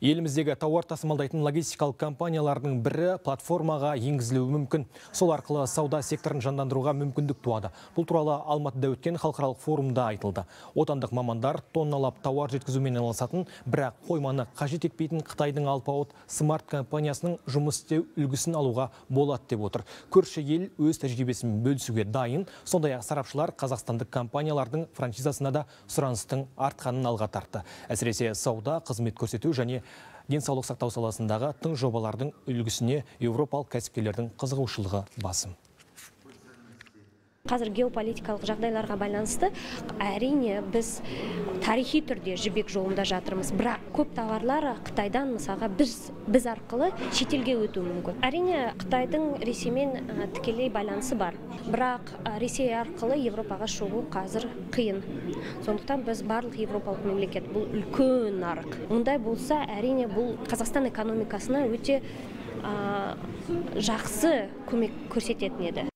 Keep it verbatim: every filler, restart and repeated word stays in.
Еліміздегі тауар тасымалдайтын логистикалық компаниялардың бірі платформаға енгізілуі мүмкін. Сол арқылы сауда секторын жандандыруға мүмкіндік туады. Бұл туралы Алматыда өткен халықаралық форумда айтылды. Отандық мамандар тонналап тауар жеткізумен айналысатын, бірақ қойманы қажет етпейтін Қытайдың алпауыт смарт компаниясының жұмыс істеу үлгісін алуға болады деп отыр. Көрші ел өз тәжірибесін бөлісуге дайын. Сондай-ақ сарапшылар қазақстандық компаниялардың франшизасына да сұраныстың артқанын алға тартты. Әсіресе сауда, қызмет көрсету және денсаулық сақтау саласындағы тың жобалардың үлгісіне еуропалық кәсіпкерлердің қызығушылығы басым. Қазір геополитикалық жағдайларға байланысты әрине біз тарихи түрде жібек жолында жатырмыз. Бірақ көп товарлар Қытайдан мысалға біз біз арқылы шетелге өтуі мүмкін. Әрине Қытайдың Ресеймен тікелей байланысы бар. Бірақ Ресей арқылы Европаға шығу қазір қиын. Сондықтан біз барлық европалық мемлекет бұл үлкен нарық. Ондай болса, әрине бұл Қазақстан экономикасына өте жақсы көмек көрсететін еді.